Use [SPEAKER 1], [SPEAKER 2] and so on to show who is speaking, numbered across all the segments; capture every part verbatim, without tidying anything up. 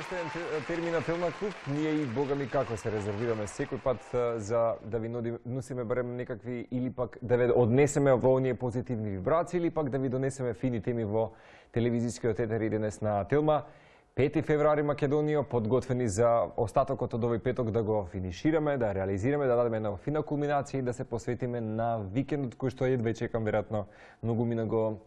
[SPEAKER 1] уште еден термин на Телма клуб. Ние и бога ми како се резервираме секој пат за да ви носиме барем некакви или пак да ве однесеме во оние позитивни вибрации или пак да ви донесеме фини теми во телевизискиот етер и денес на Телма. пети февруари Македонија, подготвени за остатокот од овој петок да го финишираме, да реализираме, да дадеме една фина кулминација и да се посветиме на викендот кој што едве чекам веројатно многу мина го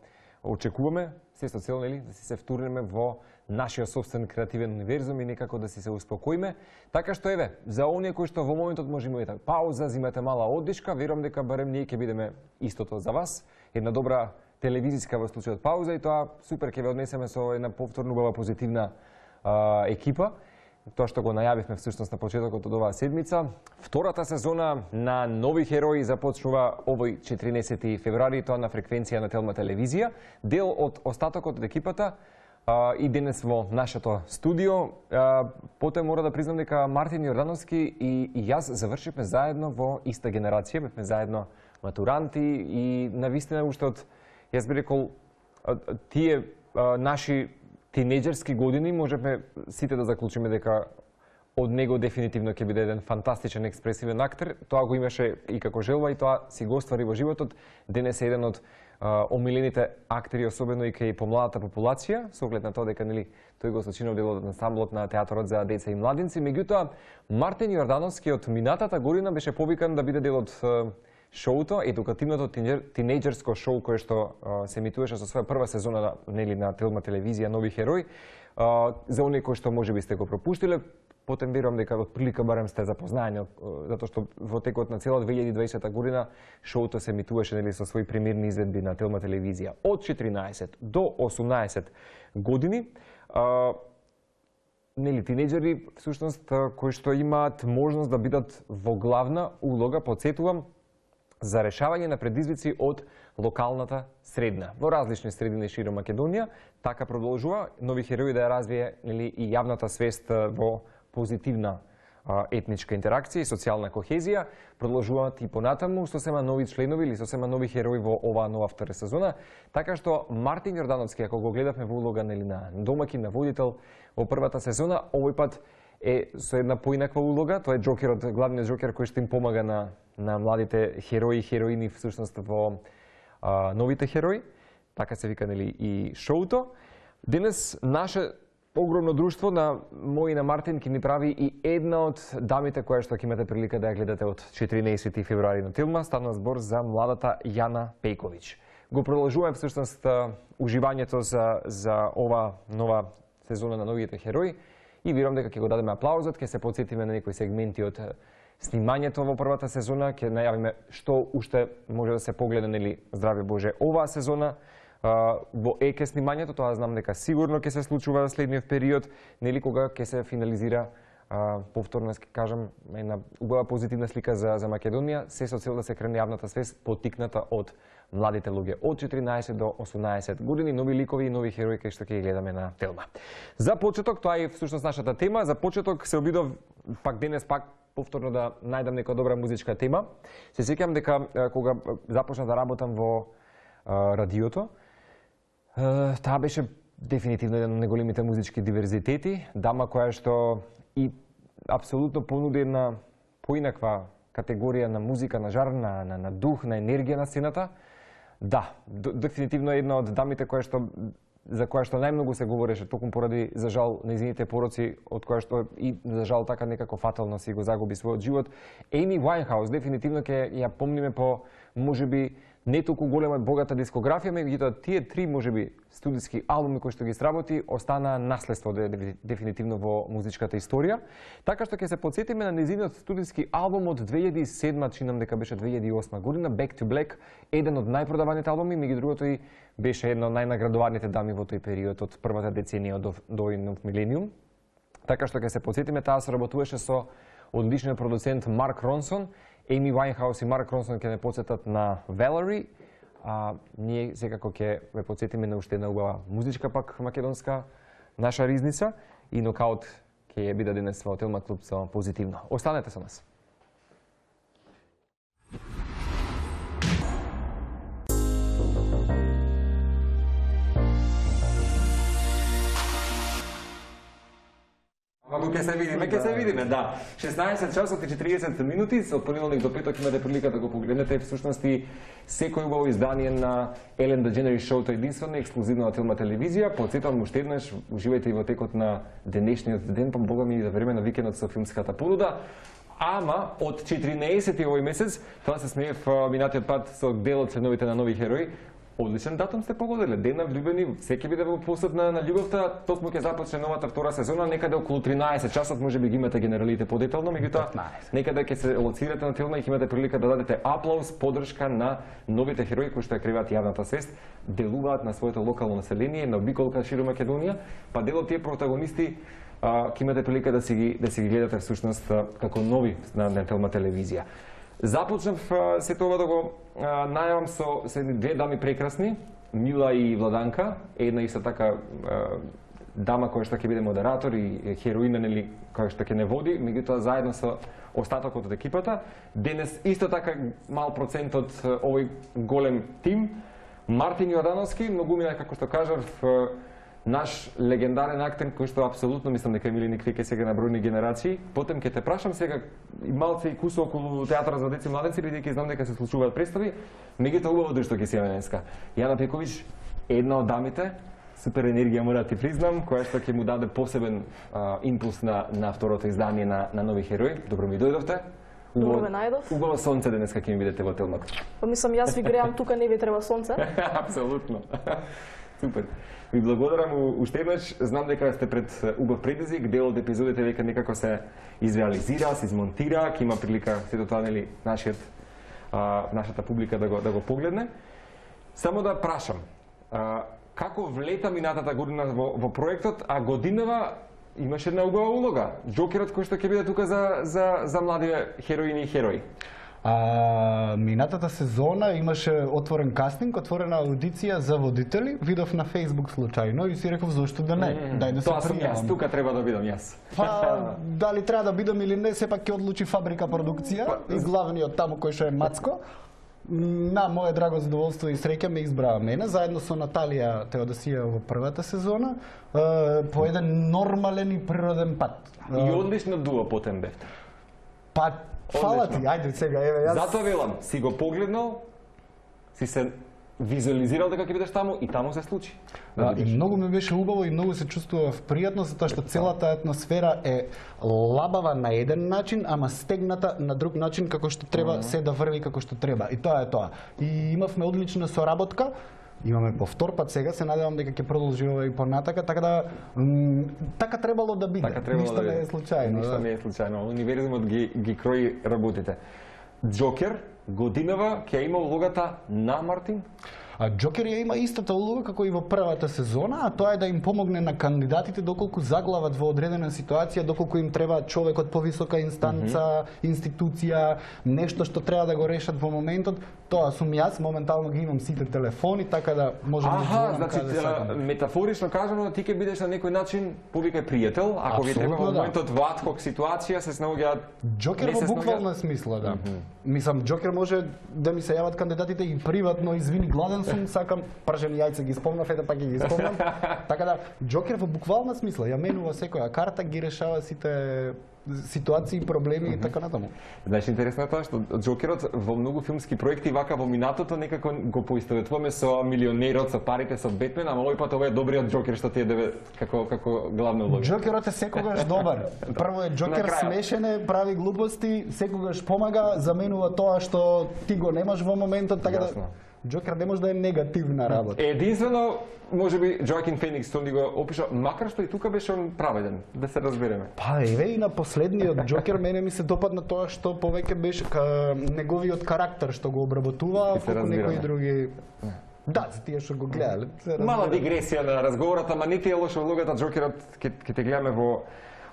[SPEAKER 1] очекуваме, се со цел, нели, да си се втурнеме во нашиот собствен креативен универзум и некако да си се успокоиме. Така што еве, за оние кои што во моментот може имате пауза, зимате мала оддишка, верувам дека барем ние ќе бидеме истото за вас. Една добра телевизиска во случајот пауза и тоа супер ќе ве однесеме со една повторно убава позитивна а, екипа. Тоа што го најавивме всушност на почетокот од оваа седмица. Втората сезона на Нови херои започнува овој четиринаесети февруари, тоа на фреквенција на Телма телевизија. Дел од остатокот од екипата а, и денес во нашето студио. А, потоа мора да признам дека Мартин Јордановски и, и јас завршивме заедно во иста генерација, бевме заедно матуранти и навистина уште од, јас би рекол, тие а, наши тинејџерски години можеме сите да заклучиме дека од него дефинитивно ќе биде еден фантастичен експресивен актер. Тоа го имаше и како желба и тоа си го оствари во животот. Денес е еден од а, омилените актери, особено и кај помладата популација, со оглед на тоа дека нели тој го сочинал дел од ансамблот на театарот за деца и младинци. Меѓутоа, Мартин Јордановски од минатата година беше повикан да биде дел од шоуто, едукативното тинејџерско шоу кое што а, се емитуваше со своја прва сезона на, нели, на Телма телевизија Нови херои. А, за оние кои што можеби сте го пропуштиле, потем верувам дека од прилика барем сте запознаени, затоа што во текот на цела две илјади и дваесета година шоуто се емитуваше, нели, со своји премиерни изведби на Телма телевизија. Од четиринаесет до осумнаесет години, а, нели, тинејџери всушност кои што имаат можност да бидат во главна улога, подсетувам, за решавање на предизвици од локалната средина. Во различни средини широм Македонија, така продолжува Нови херои да ја развие, нели, и јавната свест во позитивна а, етничка интеракција и социјална кохезија. Продолжуваат и понатаму сосема нови членови или сосема нови херои во оваа нова втора сезона. Така што Мартин Јордановски, ако го гледавме во улога, нели, на домаќин, на водител во првата сезона, овој пат е со една поинаква улога. Тоа е џокерот, главниот џокер кој што им помага на на младите херои и хероини всушност во а, новите херои. Така се вика, нели, и шоуто. Денес наше огромно друштво на мој и на Мартин ќе ни прави и една од дамите која што ќе имате прилика да ја гледате од четиринаесети февруари на Телма. Станува збор за младата Јана Пејковиќ. Го продолжуваме всушност уживањето за за ова нова сезона на новите херои и верувам дека ќе го дадеме аплаузот, ќе се потсетиме на некои сегменти од снимањето во првата сезона, ќе најавиме што уште може да се погледа, нели, здраве Боже, оваа сезона а, во еке снимањето. Тоа знам дека сигурно ќе се случува во следниот период, нели, кога ќе се финализира а, повторно, ќе кажам, една убава позитивна слика за за Македонија, се со цел да се крене јавната свест поттикната од младите луѓе од четиринаесет до осумнаесет години, нови ликови и нови херои кои што ќе ги гледаме на Телма. За почеток, тоа е всушност нашата тема. За почеток се обидов пак денес пак повторно да најдам нека добра музичка тема. Се сеќам дека кога започна да работам во а, радиото, а, таа беше дефинитивно еден од најголемите музички диверзитети, дама која што и апсолутно понуди една поинаква категорија на музика, на жар, на, на, на дух, на енергија на сцената. Да, дефинитивно една од дамите која што за која што најмногу се говореше токму поради, за жал, нејзините пороци, од која што и за жал така некако фатално си го загуби својот живот. Еми Вајнхаус дефинитивно ќе ја помниме по можеби не толку голема богата дискографија, меѓутоа тие три можеби студиски албуми кои што ги сработи останаа наследство дефинитивно во музичката историја. Така што ќе се потсетиме на нејзиниот студиски албум од две илјади и седма, чинам дека беше две илјади и осма година, Back to Black, еден од најпродаваните албуми, меѓу другото и беше една од најнаградуваните дами во тој период од првата деценија до, до нов милениум. Така што ќе се потсетиме, таа соработуваше со одличниот продуцент Марк Ронсон. Еми Вајнхаус и Марк Ронсон ќе не потсетат на Valerie, а ние секако ќе ве потсетиме на уште една убава музичка пак македонска наша ризница и нокаут ќе ја биде денес во Телма клуб со позитивно. Останете со нас. Ако ќе се видиме, ќе се видиме, да. шеснаесет часот и четириесет минути, од понеделник до петок имате прилика да го погледнете. Всушност и секој убаво издание на Елен Дедженерис шоуто единствено ексклузивно на Телма телевизија. Потсетувам уште еднаш, уживајте и во текот на денешниот ден, па бога ми да време на викендот со филмската понуда. Ама од четиринаесети овој месец, тоа се смеев минатиот пат со делот ценовите на нови херои. Одличен датум сте погодиле, ден на влюбени, секи биде во посет на, на љубовта, токму ќе започне новата втора сезона, некаде околу тринаесет часот, може би ги имате генералите подетално, меѓутоа некаде ќе се лоцирате на Телма и ќе имате прилика да дадете аплауз, подршка на новите херои кои што ја криваат јавната свест, делуваат на своето локално население, на обиколка широ Македонија, па дел од тие протагонисти ќе имате прилика да си ги да си ги гледате всушност како нови на Телма телевизија. Започнав сето ова да го најавам со две дами прекрасни, Мила и Владанка, една исто така дама која што ќе биде модератор и хероина, нели, која што ќе не води, меѓутоа заедно со остатокот од екипата. Денес исто така мал процент од овој голем тим, Мартин Јордановски, многу миле, како што кажав, наш легендарен актер кој што апсолутно мислам дека мили никакви ке сега на бројни генерации. Потем ќе те прашам сега и малце и кусо околу театар за деца и младенци, бидејќи знам дека се случуваат представи, меѓутоа убаво дошто ќе си денеска. Јана Пековиќ, една од дамите, супер енергија мора да ти признам, која што ќе му даде посебен а, импулс на на второто издание на на нови херои. Добро ми дојдовте.
[SPEAKER 2] Добро ме најдов.
[SPEAKER 1] Убаво сонце денеска ќе ми видите во Телмак.
[SPEAKER 2] Па мислам јас ви греам тука, не ви треба сонце.
[SPEAKER 1] Апсолутно. Супер. Ви благодарам уште еднаш. Знам дека сте пред убав предизвик, дел од епизодите века некако се изреализира, се измонтира, ќе има прилика сето тоа, нели, нашиот а, нашата публика да го да го погледне. Само да прашам, а, како влета минатата година во, во проектот, а годинава имаше една убава улога, Џокерот кој што ќе биде тука за за за млади хероини и херои.
[SPEAKER 3] А, минатата сезона имаше отворен кастинг, отворена аудиција за водители, видов на Facebook случајно и си реков зошто да не, mm, дај да се
[SPEAKER 1] пријавам. Тоа сум јас, тука треба да бидам јас.
[SPEAKER 3] Па, дали треба да бидам или не, сепак ќе одлучи Фабрика продукција па, и главниот таму кој што е Мацко. На мое драго задоволство и среќа ме избраа мене, заедно со Наталија Теодосија во првата сезона, по еден нормален и природен пат.
[SPEAKER 1] И одлично дуо потем бевте.
[SPEAKER 3] Па, фала ти, ајде сега, еве јас.
[SPEAKER 1] Затоа велам, си го погледнал, си се визуализирал дека ќе бидеш таму и таму се случи.
[SPEAKER 3] Да, и многу ми беше убаво и многу се чувствував пријатно затоа што целата атмосфера е лабава на еден начин, ама стегната на друг начин како што треба, mm -hmm. се да врви како што треба. И тоа е тоа. И имавме одлична соработка. Имаме по втор пат сега, се надевам дека ќе продолжи ова и понатака, така да така требало да биде.
[SPEAKER 1] Така требало
[SPEAKER 3] Ништо
[SPEAKER 1] да
[SPEAKER 3] не е случајно.
[SPEAKER 1] Ништо
[SPEAKER 3] да.
[SPEAKER 1] не е случајно. Универзумот ги ги крои работите. Џокер годинава ќе има улогата на Мартин?
[SPEAKER 3] А Џокер ја има истата улога како и во првата сезона, а тоа е да им помогне на кандидатите доколку заглават во одредена ситуација, доколку им треба човек од повисока инстанца, mm -hmm. институција, нешто што треба да го решат во моментот. Тоа сум јас, моментално ги имам сите телефони, така да можам да
[SPEAKER 1] звонам значи, каде сакам. Метафорично кажано, ти ќе бидеш на некој начин повикај пријател, ако ви треба во моментот во адхок ситуација се снаоѓаат.
[SPEAKER 3] Џокер во буквална смисла, да. Mm -hmm. Мислам, Џокер може да ми се јават кандидатите и приватно, извини, гладен сум, сакам пржени јајца, ги спомнав, ете пак ги спомнам. Така да, Џокер во буквална смисла ја менува секоја карта, ги решава сите ситуации, проблеми mm -hmm. и така натаму.
[SPEAKER 1] Знаеш, интересно е тоа што Џокерот во многу филмски проекти вака во минатото некако го поистоветуваме со милионерот, со парите, со Бетмен, ама овој пат ова е добриот Џокер што ти е деве како како главна улога.
[SPEAKER 3] Џокерот е секогаш добар. Прво е Џокер смешен е, прави глупости, секогаш помага, заменува тоа што ти го немаш во моментот, така
[SPEAKER 1] Ясно.
[SPEAKER 3] да Џокер не може да е негативна работа.
[SPEAKER 1] Единствено, можеби Джоакин Феникс што ни го опиша, макар што и тука беше он праведен, да се разбереме.
[SPEAKER 3] Па еве и на последниот Џокер мене ми се допадна тоа што повеќе беше ка неговиот карактер што го обработува, како некои други. Да, за тие што го гледале.
[SPEAKER 1] Мала дигресија на разговорот, ама не ти е лоша улогата, Џокерот ќе ќе те гледаме во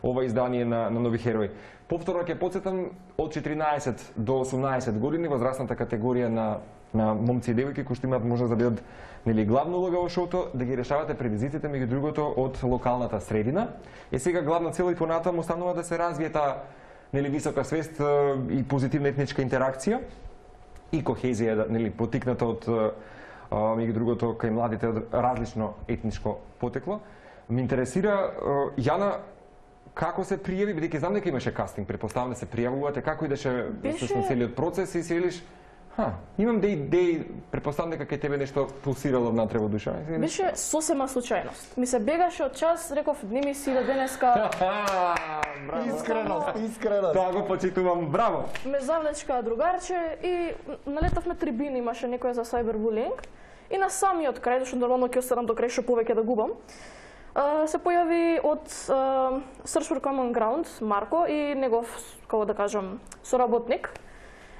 [SPEAKER 1] ова издание на, на нови херои. Повторно ќе потсетам, од четиринаесет до осумнаесет години, возрастната категорија на на момци и девојки кои што имаат можност да бидат, нели, главна улога во шоуто, да ги решавате предизвиците меѓу другото од локалната средина. Е сега главна цел и понатаму останува да се развие таа, нели, висока свест и позитивна етничка интеракција и кохезија, нели, потикната од меѓу другото кај младите од различно етничко потекло. Ме интересира, Јана, како се пријави, бидејќи знам дека имаше кастинг, претпоставам да се пријавувате, како идеше всушност целиот процес и се велиш, ха, имам да идеи, претпоставам дека кај тебе нешто пулсирало внатре во душа.
[SPEAKER 2] Беше сосема случајност. Ми се бегаше од час, реков, не ми си да денеска...
[SPEAKER 3] Искреност, искреност.
[SPEAKER 1] Тоа го почитувам, браво.
[SPEAKER 2] Ме завлечка другарче и налетавме трибини, имаше некоја за сайбербулинг. И на самиот крај, зашто нормално ќе останам до крај што повеќе да губам, се појави од Search for Common Ground Марко и негов, како да кажам, соработник.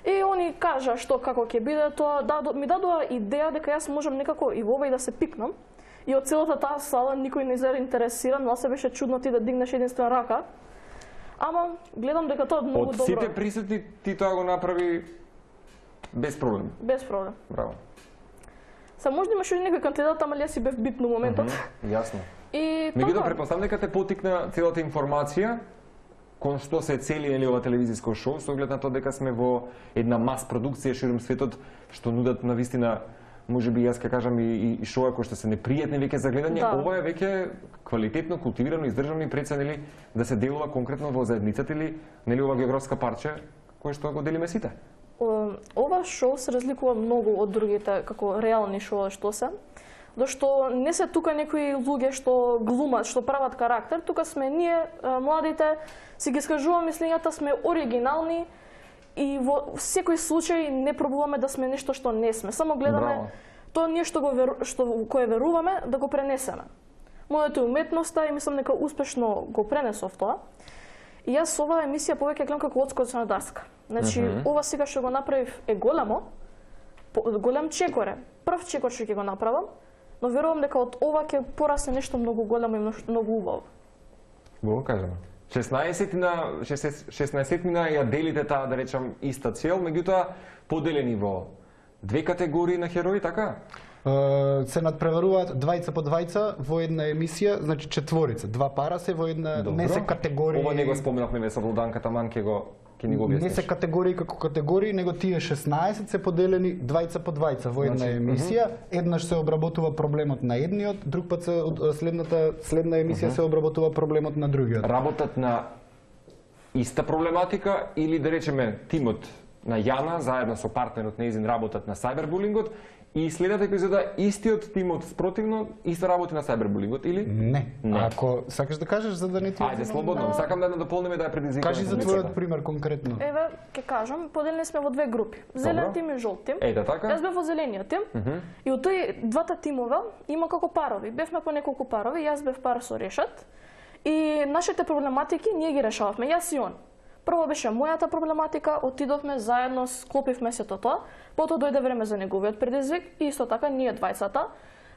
[SPEAKER 2] И они кажа што како ќе биде тоа, да, ми дадоа идеја дека јас можам некако и во овој да се пикнам. И од целата таа сала никој не заинтересиран, но се беше чудно ти да дигнеш единствена рака. Ама гледам дека тоа многу добро.
[SPEAKER 1] Од сите присутни ти тоа го направи без проблем.
[SPEAKER 2] Без проблем.
[SPEAKER 1] Браво.
[SPEAKER 2] Са можда имаше некој кандидат, ама јас си бев битно моментот.
[SPEAKER 1] Mm -hmm, јасно.
[SPEAKER 2] И
[SPEAKER 1] меѓутоа
[SPEAKER 2] така.
[SPEAKER 1] претпоставам дека те потикна целата информација кон што се цели нели ова телевизиско шоу, со оглед на тоа дека сме во една мас продукција ширум светот што нудат на вистина, можеби јас ќе кажам и, и шоуа кои што се непријатни веќе за гледање,
[SPEAKER 2] да.
[SPEAKER 1] Ова е веќе квалитетно, култивирано, издржано и преценели да се делува конкретно во заедницата или нели ова географска парче кој што го делиме сите.
[SPEAKER 2] Ова шоу се разликува многу од другите како реални шоуа што се. Дошто не се тука некои луѓе што глумат, што прават карактер, тука сме ние, младите, си ги скажуваме мислењата, сме оригинални и во секој случај не пробуваме да сме нешто што не сме. Само гледаме
[SPEAKER 1] Браво.
[SPEAKER 2] тоа ние што го веру, што кое веруваме да го пренесеме. Моето е уметноста и мислам дека успешно го пренесов тоа. И јас оваа емисија повеќе гледам како одскоч на Дарска. Значи, mm -hmm. ова сега што го направив е големо, голем чекоре. Прв чекор што ќе го направам, но верувам дека од ова ќе порасне нешто многу големо и многу убаво.
[SPEAKER 1] Го кажам. шеснаесет шеснаесет ја делите таа, да речам, иста цел, меѓутоа поделени во две категории на херои, така?
[SPEAKER 3] Uh, се надпреваруваат двајца по двајца во една емисија, значи четворица, два пара се во една,
[SPEAKER 1] Добро.
[SPEAKER 3] не се категории.
[SPEAKER 1] Ова не го споменавме со Владанка, таман ќе го ќе ни го објасниш.
[SPEAKER 3] Не се категории како категории, него тие шеснаесет се поделени двајца по двајца во една
[SPEAKER 1] Значи,
[SPEAKER 3] емисија. Еднаш се обработува проблемот на едниот, друг пат се од следната следна емисија се обработува проблемот на другиот.
[SPEAKER 1] Работат на иста проблематика или да речеме тимот на Јана заедно со партнерот нејзин работат на сайбербулингот и следната епизода истиот тимот спротивно исто работи на сайбербулингот или?
[SPEAKER 3] Не.
[SPEAKER 1] Не.
[SPEAKER 3] Ако сакаш да кажеш за да не ти
[SPEAKER 1] Ајде, слободно. Сакам да дополниме да ја предизвикаме.
[SPEAKER 3] Кажи за твојот пример конкретно.
[SPEAKER 2] Еве, ќе кажам, поделени сме во две групи. Зелен
[SPEAKER 1] Добро.
[SPEAKER 2] тим и жолт тим.
[SPEAKER 1] Ејде така.
[SPEAKER 2] Јас бев во зелениот тим.
[SPEAKER 1] Uh -huh.
[SPEAKER 2] И од тој двата тимова има како парови. Бевме по неколку парови, јас бев пар со Решат. И нашите проблематики ние ги решававме, јас и он. Прво беше мојата проблематика, отидовме заедно, склопивме сето тоа, потоа дојде време за неговиот предизвик и исто така ние двајцата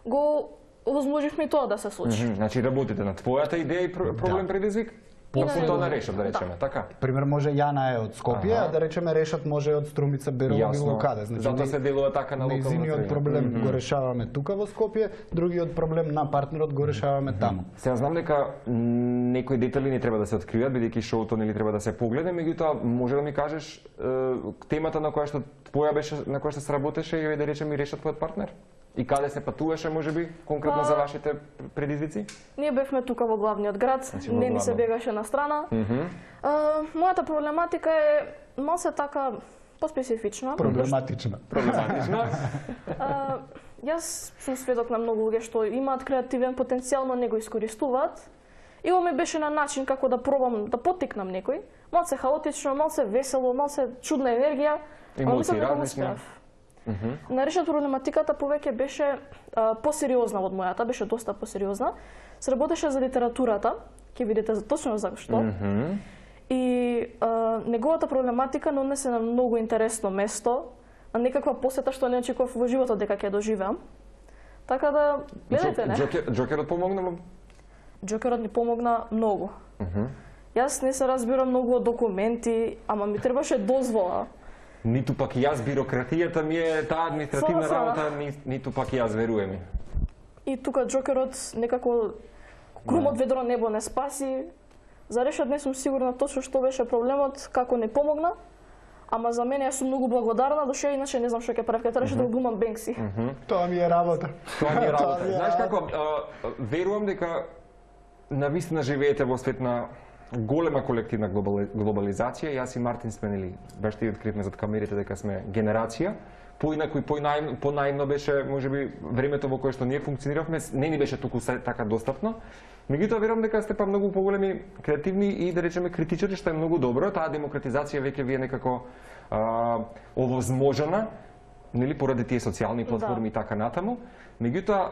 [SPEAKER 2] го возможивме и тоа да се случи.
[SPEAKER 1] Mm -hmm. Значи работите на твојата идеја и проблем
[SPEAKER 3] Да.
[SPEAKER 1] предизвик,
[SPEAKER 2] И на
[SPEAKER 1] после тоа
[SPEAKER 2] него.
[SPEAKER 1] на Решат, да речеме, така?
[SPEAKER 3] Пример може Јана е од Скопје,
[SPEAKER 1] Аха.
[SPEAKER 3] а да речеме Решат може од Струмица, Берово, било каде.
[SPEAKER 1] Значи, затоа
[SPEAKER 3] не-
[SPEAKER 1] се делува така на локална
[SPEAKER 3] Нејзиниот
[SPEAKER 1] средина.
[SPEAKER 3] проблем
[SPEAKER 1] Мгм.
[SPEAKER 3] го решаваме тука во Скопје, другиот проблем на партнерот го решаваме таму.
[SPEAKER 1] Сега знам дека некои детали не треба да се откријат, бидејќи шоуто нели треба да се погледа, меѓутоа може да ми кажеш е, темата на која што твоја беше, на која што се работеше и да речеме и Решат твојот партнер? И каде се патуваше, можеби, конкретно
[SPEAKER 2] Па,
[SPEAKER 1] за вашите предизвици?
[SPEAKER 2] Ние бевме тука во главниот град,
[SPEAKER 1] Значи, во
[SPEAKER 2] не ни се
[SPEAKER 1] главно.
[SPEAKER 2] бегаше на страна.
[SPEAKER 1] Мгм.
[SPEAKER 2] А, мојата проблематика е малце така поспецифична.
[SPEAKER 3] Проблематична.
[SPEAKER 1] Проблематично.
[SPEAKER 2] А, јас сум сведок на многу луѓе што имаат креативен потенцијал, но не го искористуваат. И ова ми беше на начин како да пробам да поттикнам некој. Малце хаотично, малце весело, малце чудна енергија. ама
[SPEAKER 1] Емоции
[SPEAKER 2] мислам дека го
[SPEAKER 1] различни.
[SPEAKER 2] успеав. На Решат проблематиката повеќе беше а, посериозна од мојата, беше доста посериозна. Се работеше за литературата, ќе видите за точно за што.
[SPEAKER 1] Мгм.
[SPEAKER 2] И а, неговата проблематика не однесе на многу интересно место, на некаква посета што не очекував во животот дека ќе доживеам. Така да, гледате, не?
[SPEAKER 1] Джокер, Джокерот помогна му?
[SPEAKER 2] Джокерот ни помогна многу.
[SPEAKER 1] Мгм.
[SPEAKER 2] Јас не се разбирам многу од документи, ама ми требаше дозвола.
[SPEAKER 1] Ниту пак и јас, бирократијата ми е таа административна
[SPEAKER 2] Со- со-
[SPEAKER 1] работа, ни, ниту пак и јас, веруе ми.
[SPEAKER 2] И тука Джокерот некако крумот ведро небо не спаси. За Решат не сум сигурна точно што беше проблемот, како не помогна. Ама за мене јас сум многу благодарна, доше иначе не знам што ќе правев, ќе требаше да го глумам Бенкси.
[SPEAKER 3] Тоа ми е работа.
[SPEAKER 1] Тоа ми е работа.
[SPEAKER 3] Тоа ми е
[SPEAKER 1] Знаеш
[SPEAKER 3] работа.
[SPEAKER 1] како, а, верувам дека навистина живеете во свет на голема колективна глобали, глобализација. Јас и Мартин сме, нели, баш ти откривме зад камерите дека сме генерација. Поинаку и понајмно, понајмно беше, можеби, времето во кое што ние функциониравме, не ни беше толку така достапно. Меѓутоа верувам дека сте па многу поголеми креативни и да речеме критичари, што е многу добро. Таа демократизација веќе ви е некако а, овозможена, нели, поради тие социјални платформи да. И така натаму. Меѓутоа,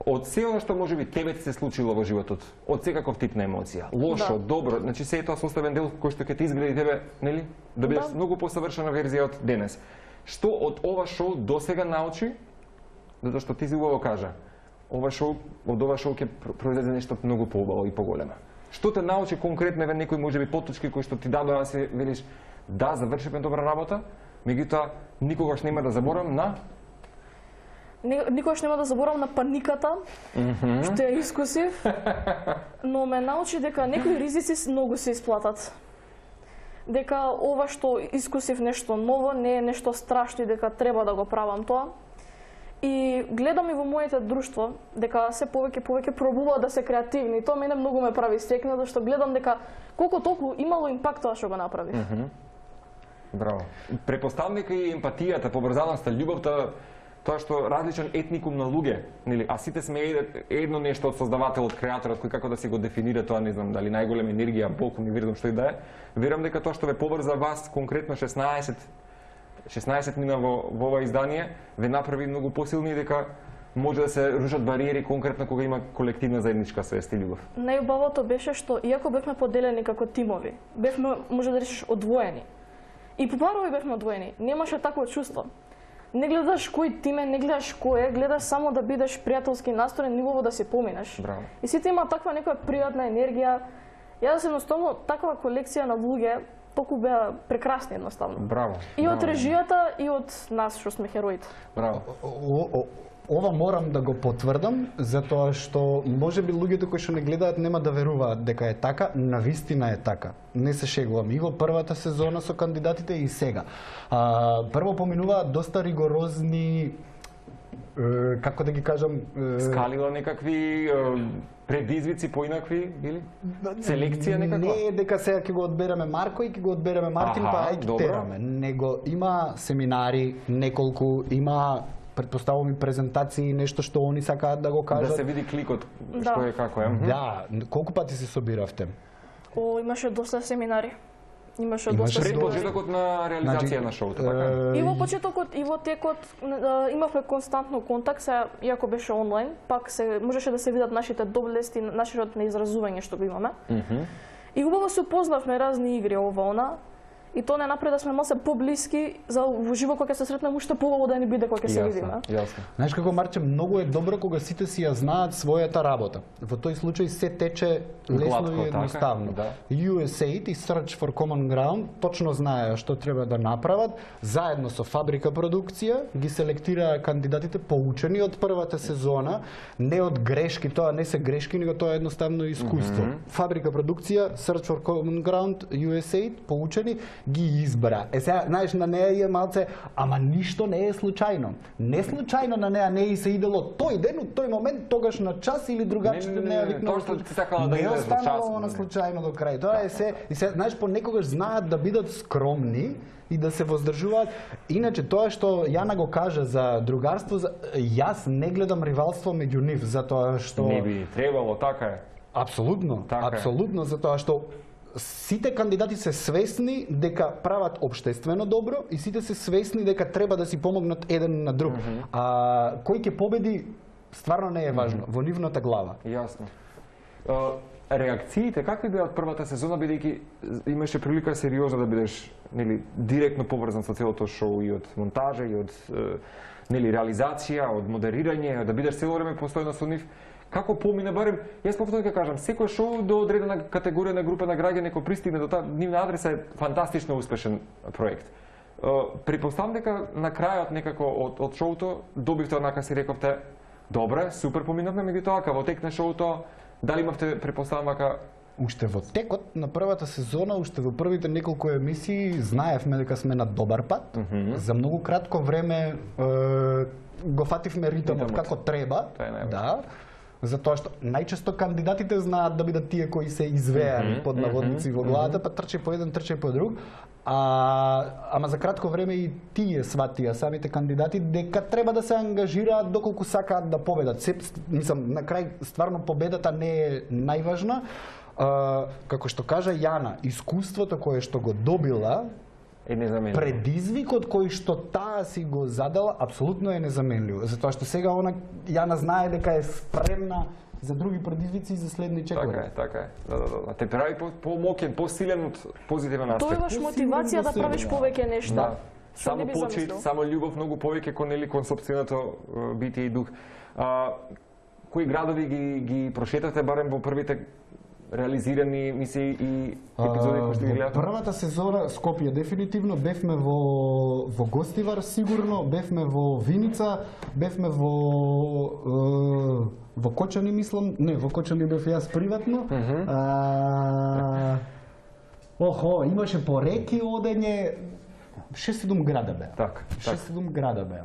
[SPEAKER 1] од се она што можеби тебе ти се случило во животот, од секаков тип на емоција, лошо, да. Добро, значи се е тоа составен дел кој што ќе ти изгледа тебе, нели, да бидеш да. Многу посавршена верзија од денес. Што од ова шоу досега научи, затоа што ти си убаво кажа, ова шоу, од ова шоу ќе произлезе нешто многу поубаво и поголемо. Што те научи конкретно еве некои можеби поточки кои што ти дадоа да се велиш да завршивме добра работа, меѓутоа никогаш нема да заборам на
[SPEAKER 2] Никогаш нема да заборам на паниката, mm-hmm. што ја искусив, но ме научи дека некои ризици многу се исплатат. Дека ова што искусив нешто ново не е нешто страшно и дека треба да го правам тоа. И гледам и во моите друштво дека се повеќе повеќе пробуваат да се креативни. Тоа мене многу ме прави среќна, зашто гледам дека колку толку имало импакт тоа што го направив.
[SPEAKER 1] Mm-hmm. Браво. Препоставам дека и емпатијата, поврзаноста, љубовта, тоа што различен етникум на луѓе, нели, а сите сме едно нешто од создавателот, креаторот, кој како да си го дефинира тоа, не знам, дали најголема енергија, Бог, универзум, што и да е. Верувам дека тоа што ве поврза вас конкретно шеснаесет шеснаесет мина во, во ова издание, ве направи многу посилни дека може да се рушат бариери конкретно кога има колективна заедничка свест и љубов.
[SPEAKER 2] Најубавото беше што иако бевме поделени како тимови, бевме, може да речеш, одвоени. И по парови бевме одвоени. Немаше такво чувство. Не гледаш кој тим е, не гледаш кој е, гледаш само да бидеш пријателски настроен, нивово да се поминеш.
[SPEAKER 1] Браво. И
[SPEAKER 2] сите има таква некоја пријатна енергија. Јас едноставно таква колекција на луѓе толку беа прекрасни едноставно.
[SPEAKER 1] Браво.
[SPEAKER 2] И
[SPEAKER 1] Браво.
[SPEAKER 2] од режијата и од нас што сме хероите.
[SPEAKER 1] Браво.
[SPEAKER 3] Ова морам да го потврдам, затоа што можеби луѓето кои што не гледаат нема да веруваат дека е така, навистина е така. Не се шегувам. И во првата сезона со кандидатите и сега. А, прво поминуваат доста ригорозни, е, како да ги кажам,
[SPEAKER 1] е... скалила некакви е, предизвици поинакви или селекција некаква?
[SPEAKER 3] Не е дека сега ќе го одбереме Марко и ќе го одбереме Мартин,
[SPEAKER 1] Аха,
[SPEAKER 3] па ај ќе тераме. Него има семинари, неколку, има предпоставувам и презентации, нешто што они сакаат да го кажат.
[SPEAKER 1] Да се види кликот,
[SPEAKER 2] да.
[SPEAKER 1] Што е, како е.
[SPEAKER 3] Да, колку пати се собиравте?
[SPEAKER 2] О, имаше доста семинари. Имаше,
[SPEAKER 3] Имаше
[SPEAKER 2] доста
[SPEAKER 1] пред почетокот на реализација
[SPEAKER 3] значи,
[SPEAKER 1] на шоуто, така?
[SPEAKER 2] И во почетокот и во текот имавме константно контакт, се иако беше онлайн, пак се можеше да се видат нашите доблести, нашиот на изразување што го имаме.
[SPEAKER 1] Mm-hmm.
[SPEAKER 2] И убаво се упознавме разни игри ова она. И тоа не направи да сме малце поблиски за во живо кога ќе се сретнеме уште поубаво да ни биде кога ќе се видиме.
[SPEAKER 1] Јасно.
[SPEAKER 3] Знаеш како, Марче, многу е добро кога сите си ја знаат својата работа. Во тој случај се тече лесно
[SPEAKER 1] Гладко,
[SPEAKER 3] и едноставно.
[SPEAKER 1] Така, да.
[SPEAKER 3] ю ес ей и Search for Common Ground точно знаеа што треба да направат, заедно со Фабрика продукција ги селектираа кандидатите поучени од првата сезона, не од грешки, тоа не се грешки, него тоа е едноставно искуство. Mm-hmm. Фабрика продукција, Search for Common Ground, ю ес ей поучени ги избра. Е сега, знаеш, на неа е малце, ама ништо не е случајно. Не случајно на неа не и се идело тој ден, од тој момент, тогаш на час или другачите не, не, не,
[SPEAKER 1] не, тоа што ти сакала да идеш во час.
[SPEAKER 3] Не останало на случајно до крај. Тоа е се, и се, знаеш, понекогаш знаат да бидат скромни и да се воздржуваат. Иначе тоа што Јана го кажа за другарство, за... јас не гледам ривалство меѓу нив, затоа што
[SPEAKER 1] не би требало, така е.
[SPEAKER 3] Апсолутно,
[SPEAKER 1] така
[SPEAKER 3] апсолутно,
[SPEAKER 1] е.
[SPEAKER 3] Затоа што сите кандидати се свесни дека прават општествено добро и сите се свесни дека треба да си помогнат еден на друг. Mm-hmm. А кој ќе победи стварно не е важно, mm-hmm. во нивната глава.
[SPEAKER 1] Јасно. Uh, реакциите какви беа од првата сезона, бидејќи имаше прилика сериозно да бидеш, нели, директно поврзан со целото шоу и од монтажа и од uh, нели реализација, од модерирање, да бидеш цело време постојано со нив. Како помина, барем, јас повторно ќе кажам, секој шоу до одредена категорија на група на граѓани кој пристигне до таа нивна адреса е фантастично успешен проект. Препоставам дека на крајот некако од, од шоуто добивте однака си рековте, добре, супер поминавме, меѓутоа кај во тек на шоуто, дали имавте препоставам дека
[SPEAKER 3] уште во текот на првата сезона, уште во првите неколку емисии знаевме дека сме на добар пат. Mm-hmm. За многу кратко време е, го фативме ритмот како треба.
[SPEAKER 1] Тоа е
[SPEAKER 3] да. Затоа што најчесто кандидатите знаат да бидат тие кои се извеани
[SPEAKER 1] Мгм,
[SPEAKER 3] под наводници
[SPEAKER 1] мгм,
[SPEAKER 3] во главата, па трче по еден, трче по друг. А, ама за кратко време и тие сватија, самите кандидати, дека треба да се ангажираат доколку сакаат да победат. Се, мислам, на крај стварно победата не е најважна. А, како што кажа Јана, искуството кое што го добила,
[SPEAKER 1] Е незаменливо.
[SPEAKER 3] предизвикот кој што таа си го задала, апсолутно е незаменливо. Затоа што сега она Јана знае дека е спремна за други предизвици и за следни чекори.
[SPEAKER 1] Така е, така е. Да, да, да. Те прави по- помокен, посилен од позитивен аспект.
[SPEAKER 2] Тоа имаш мотивација да правиш повеќе нешта.
[SPEAKER 1] Да.
[SPEAKER 2] Што не
[SPEAKER 1] Само
[SPEAKER 2] би
[SPEAKER 1] почит,
[SPEAKER 2] замислил.
[SPEAKER 1] само љубов, многу повеќе кон нели кон сопственото е, битие и дух. А, кои градови ги ги прошетате барем во првите реализирани мисии и епизоди кои што ги
[SPEAKER 3] Во
[SPEAKER 1] гледате?
[SPEAKER 3] првата сезона Скопје дефинитивно, бевме во во Гостивар сигурно, бевме во Виница, бевме во е, во Кочани мислам, не, во Кочани бев јас приватно. А, охо, имаше по реки одење, шест-седум града беа.
[SPEAKER 1] Так, так.
[SPEAKER 3] шест-седум града беа.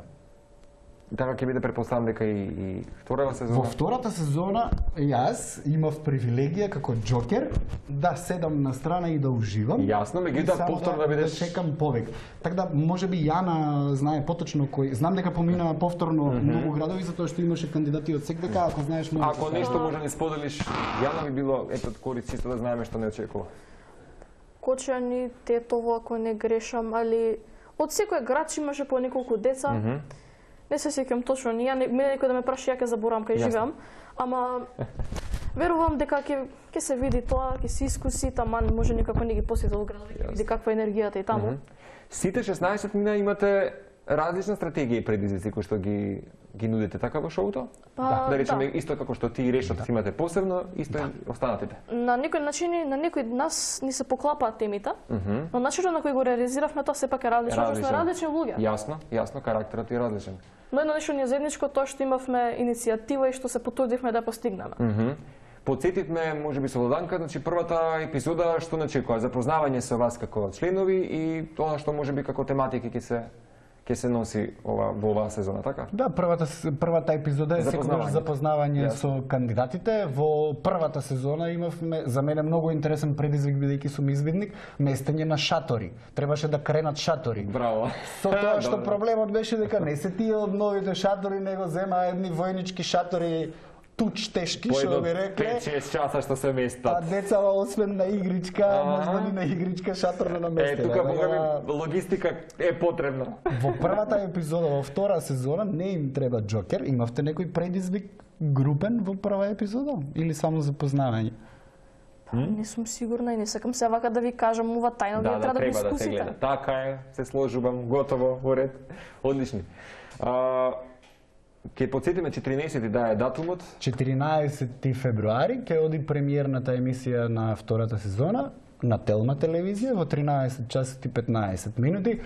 [SPEAKER 1] Така ќе биде претпоставам дека и, и втората сезона.
[SPEAKER 3] Во втората сезона јас имав привилегија како Џокер да седам на страна и да уживам.
[SPEAKER 1] Јасно, меѓутоа
[SPEAKER 3] И само
[SPEAKER 1] повторно да бидеш-
[SPEAKER 3] да чекам повеќе. Така да можеби Јана знае поточно кој. Знам дека помина повторно многу градови затоа што имаше кандидати од секдека, ако знаеш може.
[SPEAKER 1] Ако нешто може да ни споделиш, Јана би било ето корист чисто да знаеме што не очекува.
[SPEAKER 2] Кочани, Тетово, ако не грешам, али од секој град имаше по неколку деца. Не се сеќам точно, ни ја не, мене некој да ме праша, ја ќе заборавам кај
[SPEAKER 1] Јасно.
[SPEAKER 2] живеам, ама верувам дека ќе ќе се види тоа, ќе се искуси, таман може некако не ги посети од градови, ќе види каква е енергијата и таму.
[SPEAKER 1] Сите шеснаесет мина имате различна стратегија и предизвици кои што ги ги нудите така во шоуто?
[SPEAKER 2] Па,
[SPEAKER 1] да речеме
[SPEAKER 2] да.
[SPEAKER 1] исто како што ти и решот си имате посебно, исто и останатите.
[SPEAKER 2] На некој начини, на некој нас ни се поклапаат темите, но начинот на кој го реализиравме тоа сепак е различно, што сме различни луѓе.
[SPEAKER 1] Јасно, јасно, карактерот е различен.
[SPEAKER 2] Но едно нешто ни е заедничко тоа што имавме иницијатива и што се потрудивме да ја постигнеме.
[SPEAKER 1] Мгм. Подсетивме, можеби со Лоданка, значи првата епизода што начекува запознавање со вас како членови и тоа што можеби како тематики ќе се ќе се носи ова во оваа сезона, така?
[SPEAKER 3] Да, првата с- првата епизода е секогаш
[SPEAKER 1] Запознавање.
[SPEAKER 3] запознавање
[SPEAKER 1] Јасно.
[SPEAKER 3] со кандидатите. Во првата сезона имавме за мене многу интересен предизвик бидејќи сум извидник, местење на шатори. Требаше да кренат шатори.
[SPEAKER 1] Браво.
[SPEAKER 3] Со тоа што
[SPEAKER 1] Добро.
[SPEAKER 3] проблемот беше дека не се тие од новите шатори, него зема едни војнички шатори туч тешки,
[SPEAKER 1] По
[SPEAKER 3] што
[SPEAKER 1] едно
[SPEAKER 3] би рекле.
[SPEAKER 1] пет-шест часа што се
[SPEAKER 3] А
[SPEAKER 1] местат.
[SPEAKER 3] децава освен на игричка,
[SPEAKER 1] Аха.
[SPEAKER 3] можда ни на игричка шатор не
[SPEAKER 1] Е,
[SPEAKER 3] наместиле.
[SPEAKER 1] тука
[SPEAKER 3] Така
[SPEAKER 1] бога
[SPEAKER 3] да,
[SPEAKER 1] ми логистика е потребна.
[SPEAKER 3] Во првата епизода, во втора сезона, не им треба Џокер. Имавте некој предизвик групен во прва епизода? Или само запознавање?
[SPEAKER 2] Не сум сигурна и не сакам се вака да ви кажам ова тајна,
[SPEAKER 1] Да,
[SPEAKER 2] вие
[SPEAKER 1] да,
[SPEAKER 2] треба да го
[SPEAKER 1] треба да се
[SPEAKER 2] искусите.
[SPEAKER 1] гледа. Така е, се сложувам, готово, во ред. Одлични. А, Ке подсетиме четиринаесети да е датумот.
[SPEAKER 3] четиринаесети февруари ќе оди премиерната емисија на втората сезона на Телма телевизија во тринаесет часот и петнаесет минути.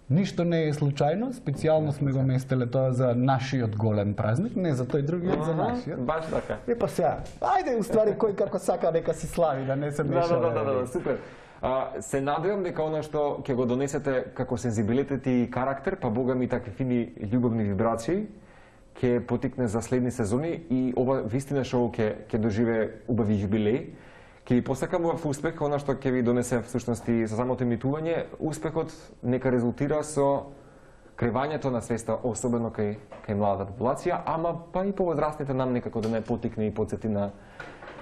[SPEAKER 3] Ништо не е случајно, специјално сме го местеле тоа за нашиот голем празник, не за тој другиот, за нашиот.
[SPEAKER 1] Баш така.
[SPEAKER 3] И па сега, ајде уствари кој како сака нека си слави, да не се
[SPEAKER 1] Да,
[SPEAKER 3] мешаме.
[SPEAKER 1] да, да, да, да, супер. А, се надевам дека она што ќе го донесете како сензибилитет и карактер, па бога ми такви фини љубовни вибрации, ќе потикне за следни сезони и ова вистина шоу ќе ќе доживее убави јубилеј. Ќе ви посакам во успех, она што ќе ви донесе всушност и со самото емитување, успехот нека резултира со кревањето на свеста, особено кај кај младата популација, ама па и повозрастните нам некако да не потикне и потсети на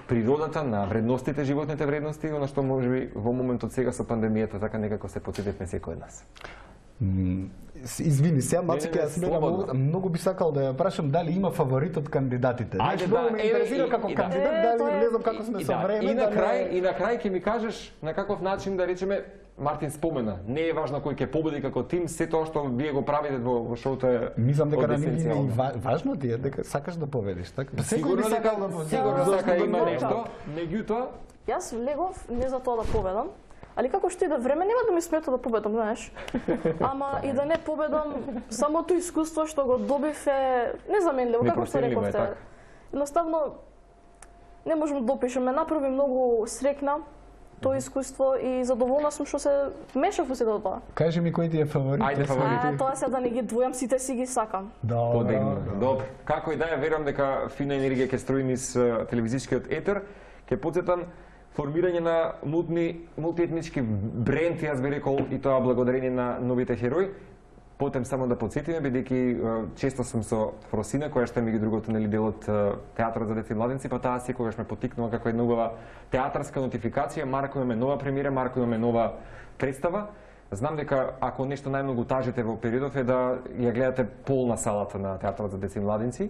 [SPEAKER 1] природата, на вредностите, животните вредности, она што можеби во моментот сега со пандемијата така некако се потсетивме секој од нас.
[SPEAKER 3] М, с- Извини, сега
[SPEAKER 1] Не,
[SPEAKER 3] Маци,
[SPEAKER 1] не, не,
[SPEAKER 3] ќе смега
[SPEAKER 1] слободно.
[SPEAKER 3] многу, многу би сакал да ја прашам дали има фаворит од кандидатите.
[SPEAKER 1] Ајде,
[SPEAKER 3] Знаеш,
[SPEAKER 1] да,
[SPEAKER 3] многу ме
[SPEAKER 1] еве,
[SPEAKER 3] интересира
[SPEAKER 1] и-
[SPEAKER 3] како
[SPEAKER 1] и да.
[SPEAKER 3] кандидат,
[SPEAKER 2] Е,
[SPEAKER 3] дали
[SPEAKER 2] тоа е-
[SPEAKER 3] не знам како сме
[SPEAKER 1] И,
[SPEAKER 3] со
[SPEAKER 1] да,
[SPEAKER 3] време.
[SPEAKER 1] и на
[SPEAKER 3] да не-
[SPEAKER 1] крај, и на крај ќе ми кажеш на каков начин да речеме Мартин спомена, не е важно кој ќе победи како тим, се тоа што вие го правите во, во шоуто е
[SPEAKER 3] Мислам дека
[SPEAKER 1] од
[SPEAKER 3] на нив им е и
[SPEAKER 1] есенцијално.
[SPEAKER 3] ва- важно ти е дека сакаш да победиш, така? Па секој
[SPEAKER 1] Сигурно
[SPEAKER 3] би сакал
[SPEAKER 1] дека
[SPEAKER 3] да победи.
[SPEAKER 1] сигурно
[SPEAKER 3] Зошто
[SPEAKER 1] сака
[SPEAKER 3] да
[SPEAKER 1] има
[SPEAKER 3] не?
[SPEAKER 1] нешто, меѓутоа
[SPEAKER 2] Јас влегов не за тоа да победам, али како што и да време нема да ми смета да победам, знаеш. Ама и да не победам, самото искуство што го добив е незаменливо, како што
[SPEAKER 1] Непроценливо е,
[SPEAKER 2] рековте.
[SPEAKER 1] така.
[SPEAKER 2] Едноставно не можам да опишам, ме направи многу срекна тоа искуство и задоволна сум што се мешав во сето тоа.
[SPEAKER 3] Кажи ми кој ти е фаворит?
[SPEAKER 1] Ајде, фаворити.
[SPEAKER 2] А, тоа се да не ги двојам, сите си ги сакам.
[SPEAKER 1] Подигно. Добро. Како и да е, верувам дека фина енергија ќе строи низ телевизискиот етер, ќе потсетам формирање на мулти, мултиетнички бренд, јас би рекол, и тоа благодарение на новите херои. Потем само да подсетиме, бидејќи често сум со Фросина, која што ми ги другото нели дел од театарот за деца и младенци, па таа секогаш ме поттикнува како една убава театарска нотификација. Марко имаме нова премиера, Марко имаме нова представа. Знам дека ако нешто најмногу тажите во периодов е да ја гледате полна салата на театарот за деца и младенци.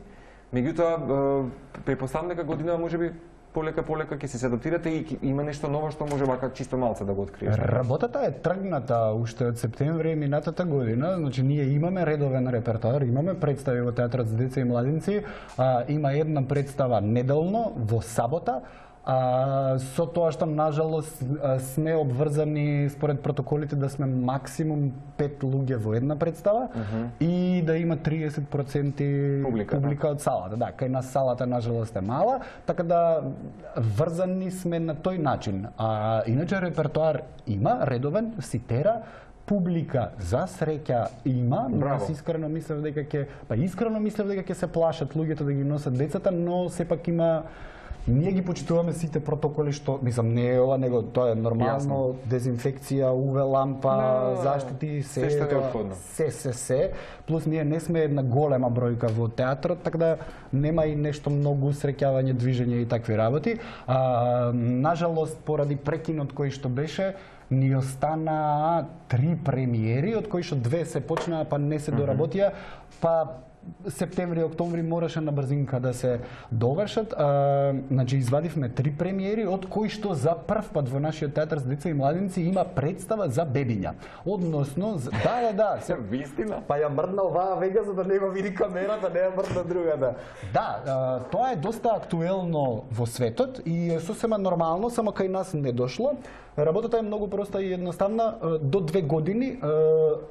[SPEAKER 1] Меѓутоа, препоставам дека година можеби полека полека ќе се адаптирате и има нешто ново што може вака чисто малце да го откриеш.
[SPEAKER 3] Работата е тргната уште од септември минатата година, значи ние имаме редовен репертоар, имаме представи во театарот за деца и младенци, а, има една представа неделно во сабота. А, со тоа што нажалост сме обврзани според протоколите да сме максимум пет луѓе во една представа uh -huh. и да има триесет проценти публика, публика да. од салата. Да, кај нас салата нажалост е мала, така да врзани сме на тој начин. А иначе репертоар има редовен, си тера, публика за среќа има, но јас искрено мислев дека ќе, па искрено мислев дека ќе се плашат луѓето да ги носат децата, но сепак има. Ние ги почитуваме сите протоколи што, мислам, не е ова, него тоа е нормално, Јасно. Дезинфекција, У В лампа, no, заштити, се,
[SPEAKER 1] се,
[SPEAKER 3] тоа, се, се, се, плюс ние не сме една голема бројка во театрот, така да нема и нешто многу среќавање, движење и такви работи. А, нажалост, поради прекинот кој што беше, ни остана три премиери, од кои што две се почнаа, па не се доработија, па септември, октомври мораше на брзинка да се довршат. А, значи извадивме три премиери, од кои што за прв пат во нашиот театар за деца и младенци има представа за бебиња. Односно, да, да, да, се
[SPEAKER 1] вистина.
[SPEAKER 3] Па ја мрдна оваа вега за да не го види камерата, не ја мрдна другата. Да, а, тоа е доста актуелно во светот и е сосема нормално, само кај нас не дошло. Работата е многу проста и едноставна. До две години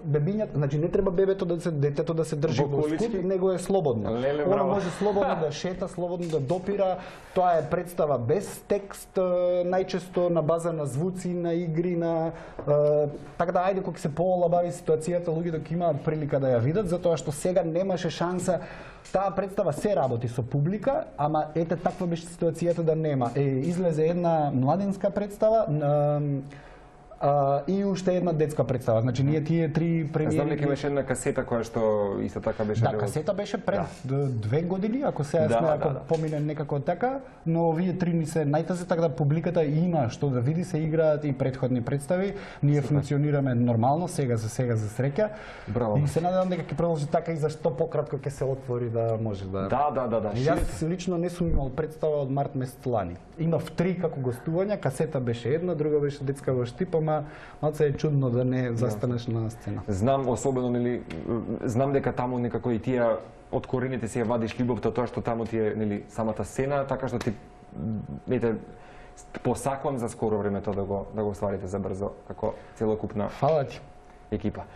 [SPEAKER 3] бебињата, значи не треба бебето да се детето да се држи во скут, него е слободно.
[SPEAKER 1] Леле,
[SPEAKER 3] Оно може слободно да шета, слободно да допира. Тоа е представа без текст, најчесто на база на звуци, на игри, на така да ајде кога се поолабави ситуацијата, луѓето ќе имаат прилика да ја видат, затоа што сега немаше шанса. Таа представа се работи со публика, ама ете таква беше ситуацијата да нема. Е, излезе една младинска представа на А, и уште една детска представа. Значи ние тие три премиери.
[SPEAKER 1] Знам дека имаше една касета која што исто така беше.
[SPEAKER 3] Да, касета беше пред да. две години, ако сега сме, да, ако да, да. помине некако така, но овие три ни се најтазе, така да публиката има што да види, се играат и претходни представи. Ние Супер. функционираме нормално, сега за сега за среќа.
[SPEAKER 1] Браво.
[SPEAKER 3] И се надевам дека ќе продолжи така и за што пократко ќе се отвори да може да.
[SPEAKER 1] Да, да, да, да.
[SPEAKER 3] Јас лично не сум имал представа од март месец лани. Имав три како гостувања, касета беше една, друга беше детска во Штипа, ама малце е чудно да не застанеш на сцена.
[SPEAKER 1] Знам особено нели знам дека таму некако и тие од корените се ја вадиш љубовта, тоа што таму ти е нели самата сцена, така што ти ете посакувам за скоро време тоа да го да го остварите за брзо како целокупна
[SPEAKER 3] Фала ти
[SPEAKER 1] екипа.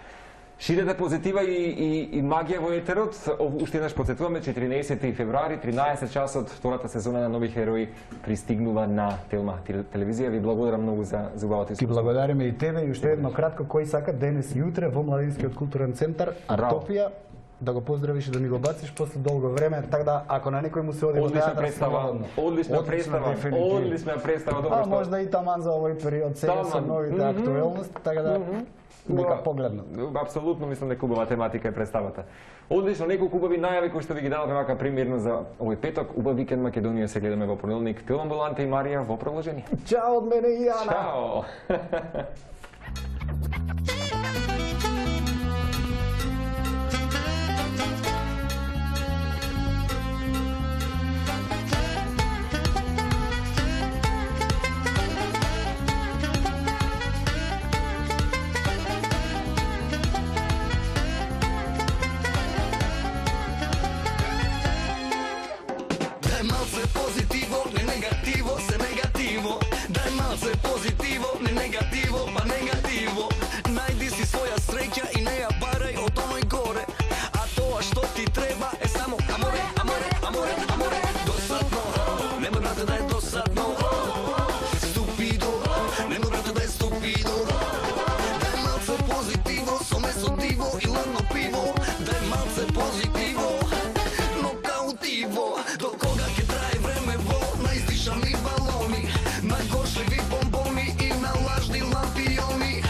[SPEAKER 1] Ширете позитива и, и, и магија во етерот. Уште еднаш подсетуваме, четиринаесети февруари, тринаесет часот, втората сезона на Нови херои пристигнува на Телма телевизија. Ви благодарам многу за за убавото искуство.
[SPEAKER 3] Ти благодариме и тебе и уште едно кратко, кој сака денес и утре во Младинскиот културен центар Артопија да го поздравиш и да ми го бациш после долго време, така да ако на некој му се оди во
[SPEAKER 1] театар, представа, одлична представа, одлична представа, добро
[SPEAKER 3] што. А можда и таман за овој период сега со новите mm -hmm. актуелности, така да mm -hmm. нека погледнат.
[SPEAKER 1] Апсолутно мислам дека убава тематика е представата. Одлично, неколку убави најави кои што ви ги дадовме вака примерно за овој петок. Убав викенд Македонија се гледаме во понеделник. Телом Боланте и Марија во продолжение.
[SPEAKER 3] Чао од мене и Јана.
[SPEAKER 1] Чао.
[SPEAKER 4] Positivo, ne negativo, ne negativo, ne negativo, месо диво и ладно пиво, дај малце позитиво, но каутиво. До кога ќе трае времево, на издишани балони, на горшливи бомбони и на лажни лампиони.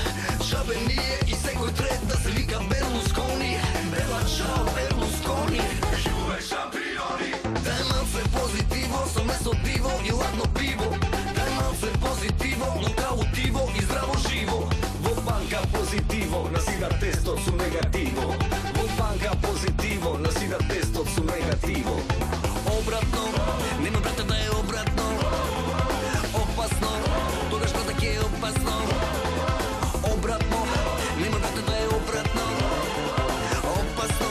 [SPEAKER 4] Шабе ние и секој трет да се вика Берлускони, бела чао Берлускони, живе шампиони. Дај малце позитиво, со месо диво и ладно пиво, дај малце позитиво, но каутиво и здраво живо. Во банка позитиво, насида тестот су негативо. Во банка позитиво, насида тестот су негативо. Обратно, нема брате да е обратно. Опасно, тогаш брате ке е опасно. Обратно, нема брате да е обратно. Опасно.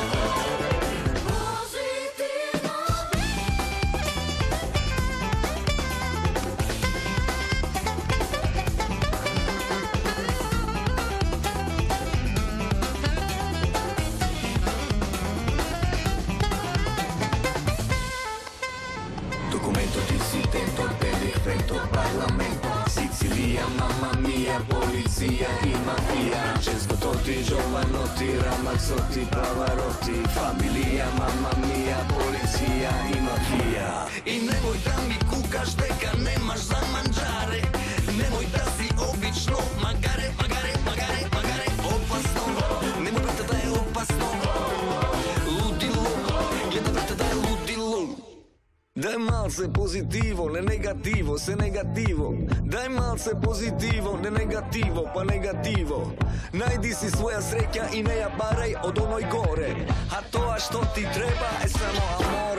[SPEAKER 4] Documento dissidente del decreto Parlamento. Sicilia, mamma mia, polizia i mafia. Cescototti, giovanotti, ramazzotti, pavarotti. Familia, mamma mia, polizia i mafia. I nemoj da mi kukaš дека немаш за манџаре. Немoj да си обично магаре, магаре, магаре, магаре. Опасно, немoj брате да е опасно. Лудило, гледа брате да е лудило. Дај малце позитиво, не негативо, се негативо. Дај малце позитиво, не негативо, па негативо. Најди си своја среќа и не ја барај од оној горе. А тоа што ти треба е само амор.